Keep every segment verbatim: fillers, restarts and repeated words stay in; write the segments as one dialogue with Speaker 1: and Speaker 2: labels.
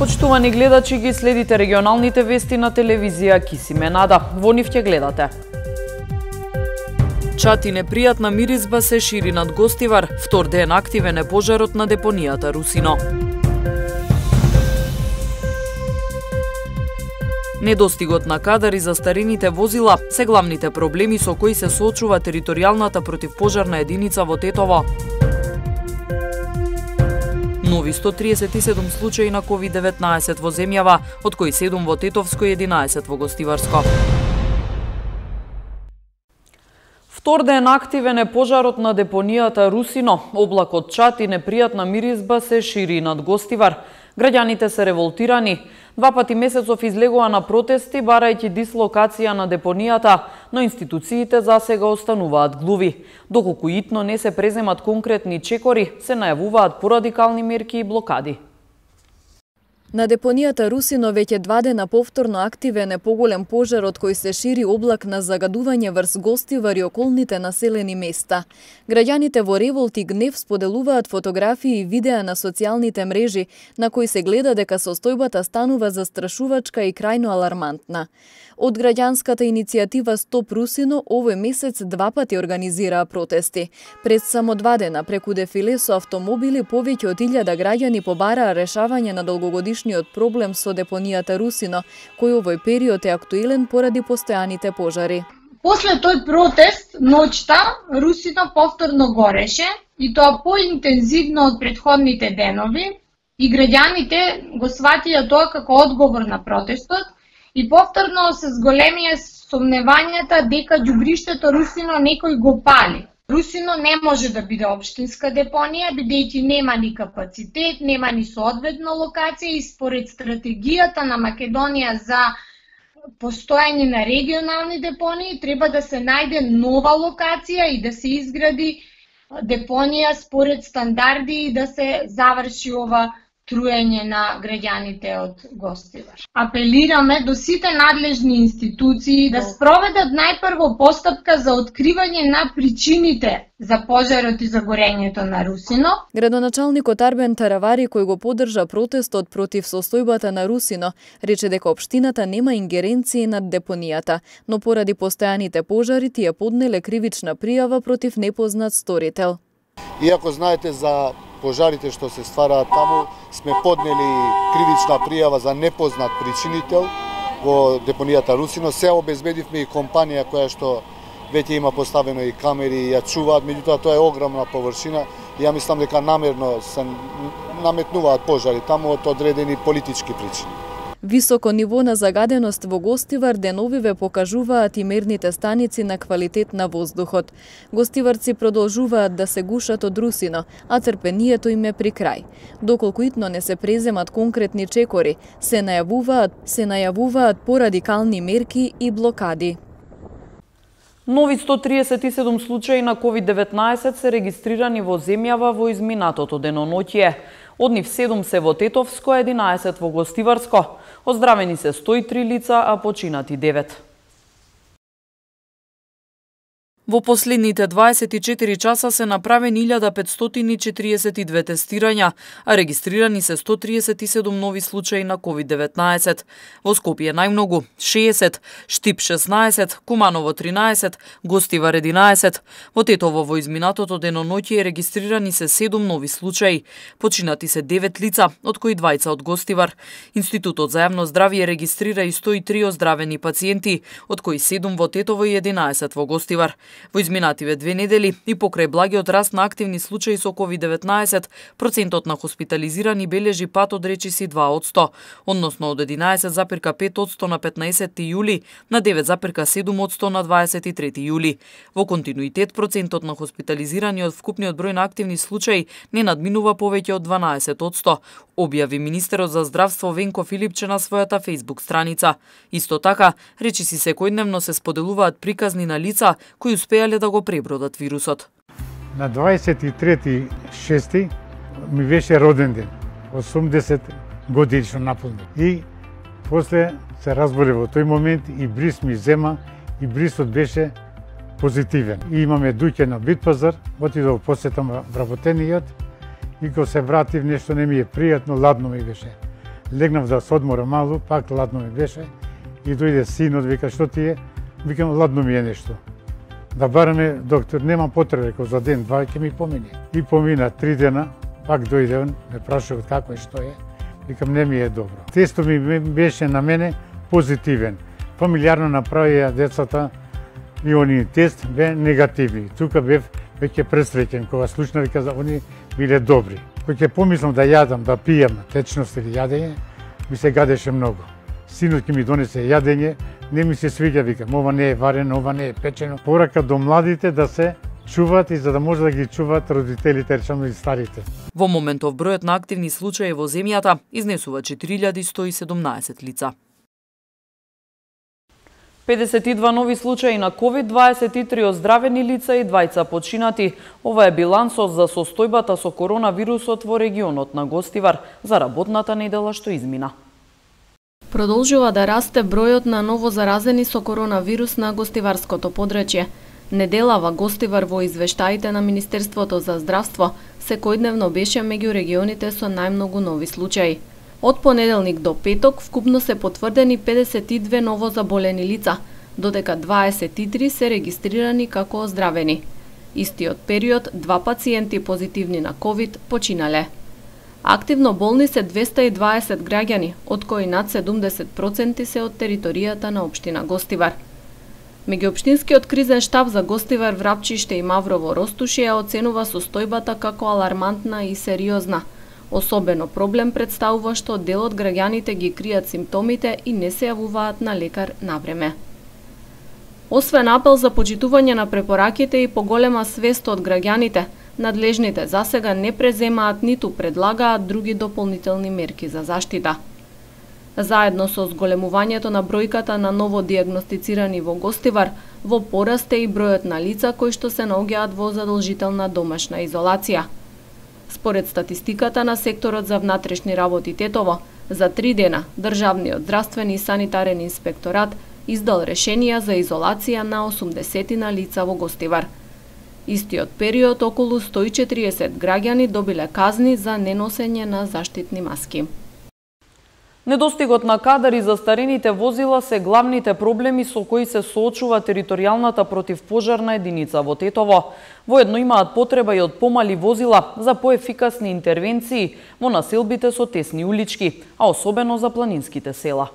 Speaker 1: Почитувани гледачи, ги следите регионалните вести на телевизија Кисиме Нада. Во нив ќе гледате. Чат и непријатна миризба се шири над Гостивар. Втор ден активен е пожарот на депонијата Русино. Недостигот на кадар и застарените возила се главните проблеми со кои се соочува територијалната противпожарна единица во Тетово. Нови сто триесет и седум случаи на ковид деветнаесет во земјава, од кои седум во Тетовско и единаесет во Гостиварско. Втор ден активен е пожарот на депонијата Русино. Облакот чат и непријатна миризба се шири над Гостивар. Граѓаните се револтирани. Два пати месецов излегува на протести, барајќи дислокација на депонијата, но институциите засега остануваат глуви. Доколку итно не се преземат конкретни чекори, се најавуваат порадикални мерки и блокади.
Speaker 2: На депонијата Русино веќе два дена повторно активен е поголем пожар од кој се шири облак на загадување врз Гостивар и околните населени места. Граѓаните во револт и гнев споделуваат фотографии и видеа на социјалните мрежи, на кои се гледа дека состојбата станува застрашувачка и крајно алармантна. Од граѓанската иницијатива Стоп Русино овој месец два пати организираа протести. Пред само два дена преку дефиле со автомобили повеќе од илјада граѓани побараа решавање на долгогодишниот проблем со депонијата Русино, кој овој период е актуелен поради постојаните пожари.
Speaker 3: После тој протест, ноќта, Русино повторно гореше и тоа поинтензивно од претходните денови и граѓаните го сватија тоа како одговор на протестот и повторно се зголемија сомневањата дека ѓубриштето Русино некој го пали. Русино не може да биде општинска депонија, бидејќи нема ни капацитет, нема ни соодветна локација и според стратегијата на Македонија за постојање на регионални депонии треба да се најде нова локација и да се изгради депонија според стандарди и да се заврши ова труење на граѓаните од Гостивар. Апелираме до сите надлежни институции да спроведат најпрво постапка за откривање на причините за пожарот и загорењето на Русино.
Speaker 2: Градоначалникот Арбен Таравари, кој го поддржа протестот против состојбата на Русино, рече дека општината нема ингеренции над депонијата, но поради постојаните пожари тие поднеле кривична пријава против непознат сторител.
Speaker 4: Иако знаете за пожарите што се ствараат таму, сме поднели кривична пријава за непознат причинител во депонијата Русино. Се обезбедивме и компанија која што веќе има поставено и камери и ја чуваат, меѓутоа тоа е огромна површина и ја мислам дека намерно се наметнуваат пожари таму од одредени политички причини.
Speaker 2: Високо ниво на загаденост во Гостивар деновиве покажуваат и мерните станици на квалитет на воздухот. Гостиварци продолжуваат да се гушат од Русино, а трпението им е при крај. Доколку итно не се преземат конкретни чекори, се најавуваат, се најавуваат порадикални мерки и блокади.
Speaker 1: Нови сто триесет и седум случаи на ковид деветнаесет се регистрирани во земјава во изминатото деноноќие. Од нив седум се во Тетовско, единаесет во Гостиварско. Оздравени се сто и три лица, а починати девет. Во последните дваесет и четири часа се направени илјада петстотини и четириесет и две тестирања, а регистрирани се сто триесет и седум нови случаи на ковид деветнаесет. Во Скопје најмногу шеесет, Штип шеснаесет, Куманово тринаесет, Гостивар единаесет. Во Тетово во изминатото деноноќие регистрирани се седум нови случаи. Починати се девет лица, од кои двајца од Гостивар. Институтот за јавно здравје регистрира и сто и три оздравени пациенти, од кои седум во Тетово и единаесет во Гостивар. Во изминативе две недели и покрај благиот раст на активни случаи со ковид деветнаесет, процентот на хоспитализирани бележи пат од речиси два одсто, односно од единаесет запирка пет одсто на петнаесетти јули на девет запирка седум одсто на дваесет и трети јули. Во континуитет процентот на хоспитализирани од вкупниот број на активни случаи не надминува повеќе од дванаесет одсто, објави министерот за здравство Венко Филипче на својата фејсбук страница. Исто така, речиси секојдневно се споделуваат приказни на лица кои успеале да го пребродат вирусот.
Speaker 5: На дваесет и трети шести ми беше роден ден, осумдесет годишно наполнет. И после се разболе во тој момент и бриз ми зема и брисот беше позитивен. И имаме дуќе на Битпазар, отидов посетам вработениот и кога се вратив нешто не ми е пријатно, ладно ми беше. Легнав да се одморам малку, пак ладно ми беше и дојде синот, вика што ти е? Викам ладно ми е нешто. Да бараме доктор, нема потреба, рекол за ден, два ќе ми помине. И помина три дена, пак дојде он, ме прашува како е, што е. Викам не ми е добро. Тестот ми беше на мене позитивен. Фамилиарно направија децата и они тест бе негативни. Тука бев веќе пресреќен кога слушнав вика за они биле добри. Кој ќе помислам да јадам, да пијам, течност или јадење, ми се гадеше многу. Синот ќе ми донесе јадење, не ми се свиѓа, викам, ова не е варено, ова не е печено. Порака до младите да се чуваат и за да може да ги чуваат родителите, речено и старите.
Speaker 1: Во моментов бројот на активни случаи во земјата изнесува четири илјади сто и седумнаесет лица. педесет и два нови случаи на ковид, дваесет и три оздравени лица и двајца починати. Ова е билансот за состојбата со коронавирусот во регионот на Гостивар за работната недела што измина.
Speaker 2: Продолжува да расте бројот на новозаразени со коронавирус на гостиварското подречје. Неделава Гостивар во извештаите на Министерството за здравство секојдневно беше меѓу регионите со најмногу нови случаи. Од понеделник до петок вкупно се потврдени педесет и две новозаболени лица, додека дваесет и три се регистрирани како оздравени. Истиот период два пациенти позитивни на ковид починале. Активно болни се двеста и дваесет граѓани, од кои над седумдесет проценти се од територијата на општина Гостивар. Меѓуопштинскиот кризен штаб за Гостивар, Врапчиште и Маврово Ростуши ја оценува состојбата како алармантна и сериозна. Особено проблем представува што дел од граѓаните ги кријат симптомите и не се јавуваат на лекар навреме. Освен апел за почитување на препораките и поголема свест од граѓаните, надлежните засега не преземаат ниту предлагаат други дополнителни мерки за заштита. Заедно со зголемувањето на бројката на ново дијагностицирани во Гостивар, во пораст е и бројот на лица кои што се наоѓаат во задолжителна домашна изолација. Според статистиката на секторот за внатрешни работи Тетово, за три дена Државниот здравствен и санитарен инспекторат издал решенија за изолација на осумдесетина лица во Гостивар. Истиот период околу сто и четириесет граѓани добиле казни за неносење на заштитни маски.
Speaker 1: Недостигот на кадар и застарените возила се главните проблеми со кои се соочува територијалната противпожарна единица во Тетово. Воедно имаат потреба и од помали возила за поефикасни интервенции во населбите со тесни улички, а особено за планинските села.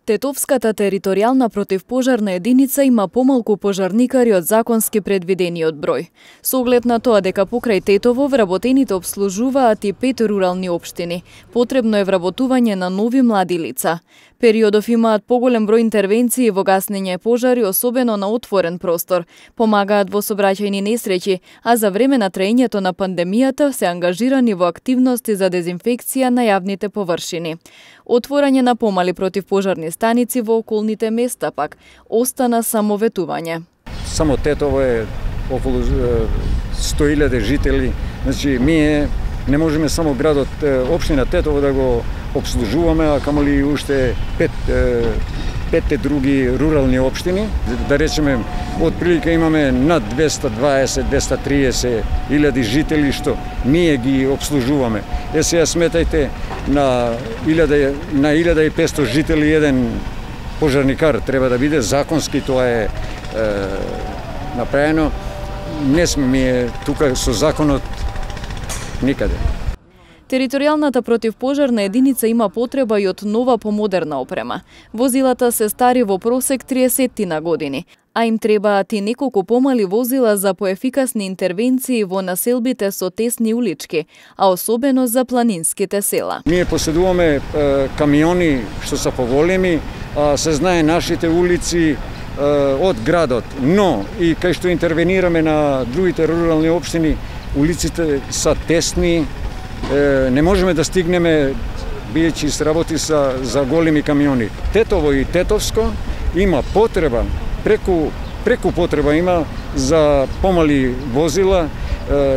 Speaker 2: Тетовската територијална противпожарна единица има помалку пожарникари од законски предвидениот број. Со оглед на тоа дека покрај Тетово вработените обслужуваат и пет рурални општини, потребно е вработување на нови млади лица. Периодов имаат поголем број интервенции во гаснење пожари, особено на отворен простор, помагаат во сообраќајни несреќи, а за време на траењето на пандемијата се ангажирани во активности за дезинфекција на јавните површини. Отворање на помали противпожарни станици во околните места пак остана само ветување.
Speaker 6: Само Тетово е околу сто илјади жители, значи ние не можеме само градот, општина Тетово да го обслужуваме, а камоли уште пет, петте други рурални општини. Да речеме, од прилика имаме над двеста дваесет до двеста триесет илјади жители што ние ги обслужуваме. Е сега сметајте на илјада на илјада и петсто жители еден пожарникар треба да биде законски, тоа е, е направено. Не сме тука со законот никаде.
Speaker 2: Територијалната противпожарна единица има потреба и од нова помодерна опрема. Возилата се стари во просек триесеттина години, а им требаат и неколку помали возила за поефикасни интервенции во населбите со тесни улички, а особено за планинските села.
Speaker 6: Ние поседуваме е, камиони што се поголеми, а се знае нашите улици е, од градот, но и кај што интервенираме на другите рурални општини, улиците се тесни, не можеме да стигнеме, бијќи се работи за, за големи камиони. Тетово и Тетовско има потреба, преку, преку потреба има за помали возила,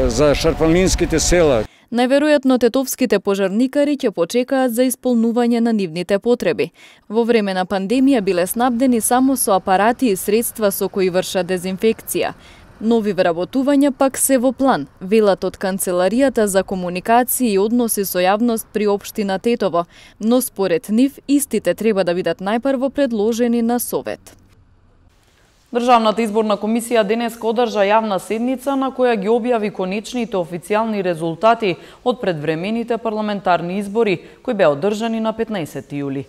Speaker 6: за шарпалнинските села.
Speaker 2: Најверојатно тетовските пожарникари ќе почекаат за исполнување на нивните потреби. Во време на пандемија биле снабдени само со апарати и средства со кои вршат дезинфекција. Нови вработувања пак се во план, велат од Канцеларијата за комуникација и односи со јавност при општина Тетово, но според нив истите треба да бидат најпрво предложени на Совет.
Speaker 1: Државната изборна комисија денеска одржа јавна седница на која ги објави конечните официјални резултати од предвремените парламентарни избори кои беа одржани на петнаесети јули.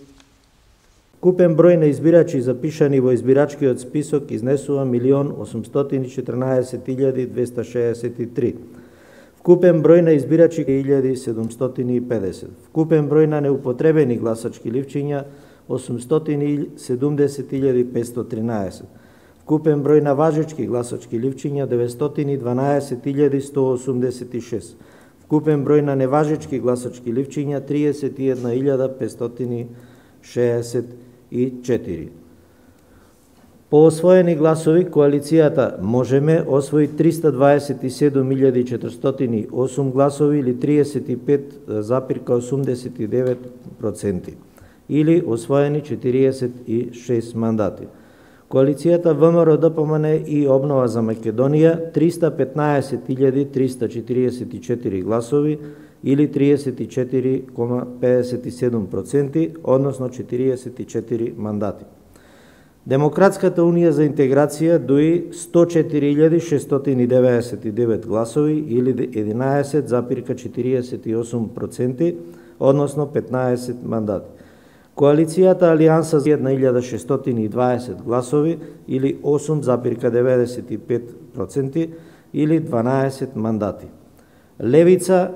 Speaker 7: Купен број на избирачи запишани во избирачкиот список изнесува милион осумстотини и четрнаесет илјади двеста шеесет и три. Вкупен број на избирачи илјади седумстотини и педесет. Вкупен број на неупотребени гласачки ливчиња осумстотини и седумдесет илјади петсто тринаесет. Вкупен број на важечки гласачки ливчиња деветстотини и дванаесет илјади сто осумдесет и шест. Вкупен број на неважечки гласачки ливчиња триесет и една илјада петстотини шеесет и четири. По освоени гласови, коалицијата Можеме освои триста дваесет и седум илјади четиристотини и осум гласови или триесет и пет запир осумдесет и девет проценти или освоени четириесет и шест мандати. Коалицијата ВМРО ДПМН и Обнова за Македонија триста петнаесет илјади триста четириесет и четири гласови или триесет и четири zarez педесет и седум проценти, односно четириесет и четири мандати. Демократската унија за интеграција дои сто четири илјади шестстотини и деветдесет и девет гласови или единаесет зарez четириесет и осум проценти, односно петнаесет мандати. Коалицијата Алијанса за една илјада шестстотини и дваесет гласови или осум зарez деветдесет и пет проценти или дванаесет мандати. Левица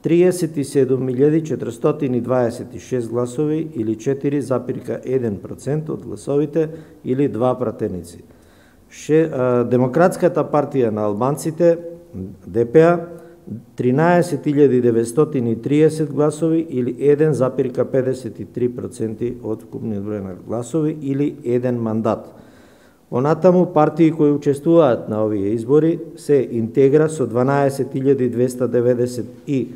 Speaker 7: триесет и седум илјади четиристотини и дваесет и шест гласови или четири зарez еден процент од гласовите или два пратеници. Ше, а, Демократската партија на албанците Д П А тринаесет илјади деветстотини и триесет гласови или еден зарез педесет и три проценти од вкупниот број на гласови или еден мандат. Онатаму партии кои учествуваат на овие избори се Интегра со дванаесет илјади двеста деветдесет и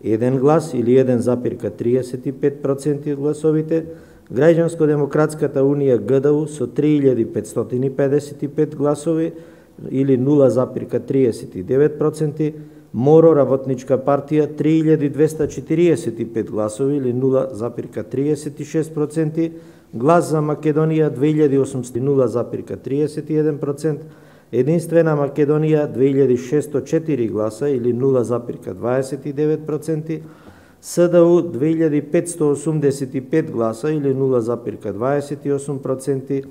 Speaker 7: еден глас или еден зарез триесет и пет проценти од гласовите, Граѓанско-демократската унија Г Д У со три илјади петстотини и педесет и пет гласови или нула зарез триесет и девет проценти, Моро работничка партија три илјади двеста четириесет и пет гласови или нула зарез триесет и шест проценти, Глас за Македонија две илјади осумстотини нула зарез триесет и еден процент, Единствена Македонија две илјади шестстотини и четири гласа или нула зарез дваесет и девет проценти, С Д У две илјади петсто осумдесет и пет гласа или нула зарез дваесет и осум проценти,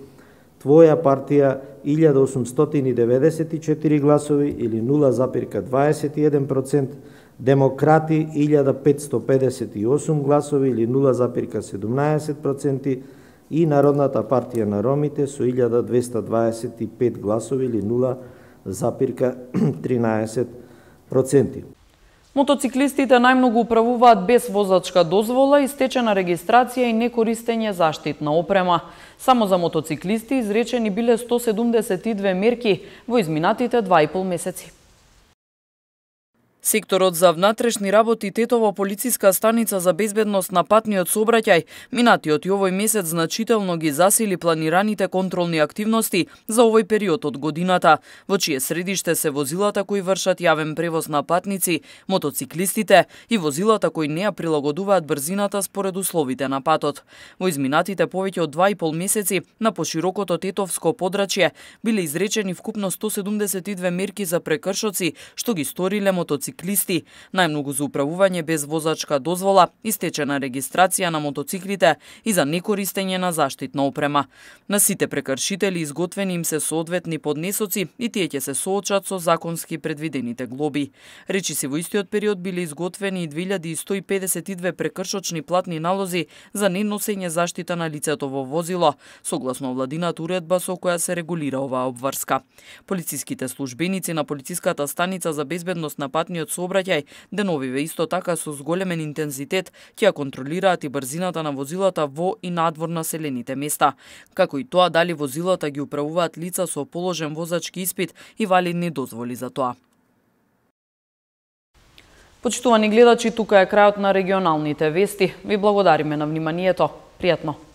Speaker 7: Твоја партија илјада осумстотини и деветдесет и четири гласови или нула зарез дваесет и еден процент, Демократи илјада петсто педесет и осум гласови или нула зарез седумнаесет проценти и Народната партија на ромите со илјада двеста дваесет и пет гласови или нула зарез тринаесет проценти.
Speaker 1: Мотоциклистите најмногу управуваат без возачка дозвола, истечена регистрација и некористење заштитна опрема. Само за мотоциклисти изречени биле сто седумдесет и две мерки во изминатите два и пол месеци. Секторот за внатрешни работи Тетово полициска станица за безбедност на патниот сообраќај минатиот и овој месец значително ги засили планираните контролни активности за овој период од годината, во чие средиште се возилата кои вршат јавен превоз на патници, мотоциклистите и возилата кои не ја прилагодуваат брзината според условите на патот. Во изминатите повеќе од два и пол месеци на поширокото тетовско подрачје биле изречени вкупно сто седумдесет и две мерки за прекршоци што ги сториле мотоциклисти. Мотоциклисти, најмногу за управување без возачка дозвола, истечена регистрација на мотоциклите и за некористење на заштитна опрема. На сите прекршители изготвени им се соодветни поднесоци и тие ќе се соочат со законски предвидените глоби. Речиси во истиот период биле изготвени и две илјади сто и педесет и две прекршочни платни налози за неносење заштита на лицето во возило, согласно владината уредба со која се регулира оваа обврска. Полициските службеници на полициската станица за безбедност на патниот сообраќај деновиве исто така со зголемен интензитет ќе ја контролираат и брзината на возилата во и надвор населените места, како и тоа дали возилата ги управуваат лица со положен возачки испит и валидни дозволи за тоа. Почитувани гледачи, тука е крајот на регионалните вести. Ви благодариме на вниманието. Пријатно!